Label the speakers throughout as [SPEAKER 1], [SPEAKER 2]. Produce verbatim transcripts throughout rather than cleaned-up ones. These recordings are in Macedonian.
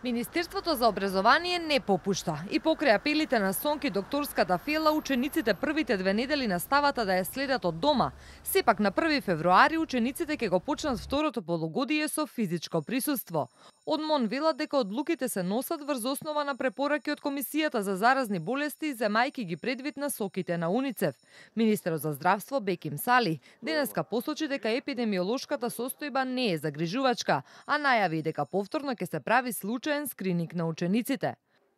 [SPEAKER 1] Министерството за образование не попушта и покрај апелите на Сонки докторската Фела, учениците првите две недели наставата да ја следат од дома. Сепак на први февруари учениците ќе го почнат второто полугодие со физичко присуство. Од МОН велат дека одлуките се носат врз основа на препораки од Комисијата за заразни болести, земајки ги предвид на соките на УНИЦЕФ. Министерот за здравство Беким Сали денеска посочи дека епидемиолошката состојба не е загрижувачка, а најави дека повторно ќе се прави случаен скрининг на учениците.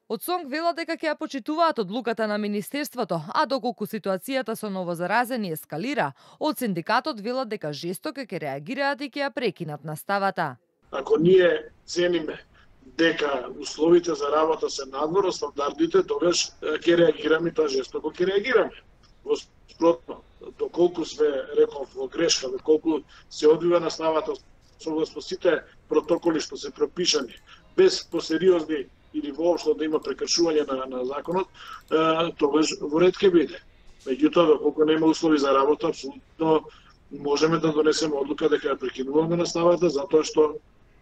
[SPEAKER 1] Од СОНК велат дека ќе ја почитуваат одлуката на Министерството, а доколку ситуацијата со новозаразени ескалира, од синдикатот велат дека жестоко ќе реагираат и ќе ја прекинат наставата.
[SPEAKER 2] Ако ние цениме дека условите за работа се надвор од стандардите, тогаш ќе реагираме и тоа жестоко ќе реагираме. Во спротно, доколку све реков во грешка, доколку се одвива наставата согласно сите протоколи што се пропишани, без посериозни или воопшто да има прекршување на, на законот, тогаш во ред ќе биде. Меѓутоа, доколку нема услови за работа, апсолутно можеме да донесеме одлука дека ја прекинуваме наставата, затоа што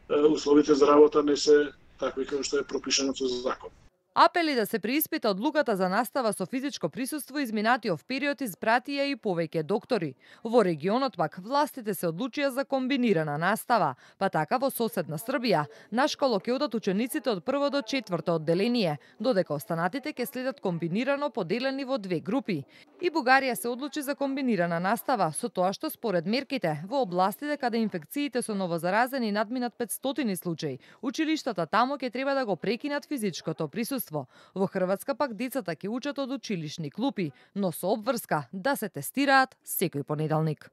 [SPEAKER 2] условите за работа не се такви како што е пропишано со закон.
[SPEAKER 1] Апели да се преиспита одлуката за настава со физичко присуство изминатиот период испратија и повеќе доктори. Во регионот пак властите се одлучија за комбинирана настава, па така во соседна Србија на школа ќе одат учениците од прво до четврто одделение, додека останатите ќе следат комбинирано поделени во две групи. И Бугарија се одлучи за комбинирана настава, со тоа што според мерките во областите каде инфекциите со новозаразени надминат петстотини случаи, училиштата таму ќе треба да го прекинат физичкото присуство. Во Хрватска пак децата ќе учат од училишни клупи, но со обврска да се тестираат секој понеделник.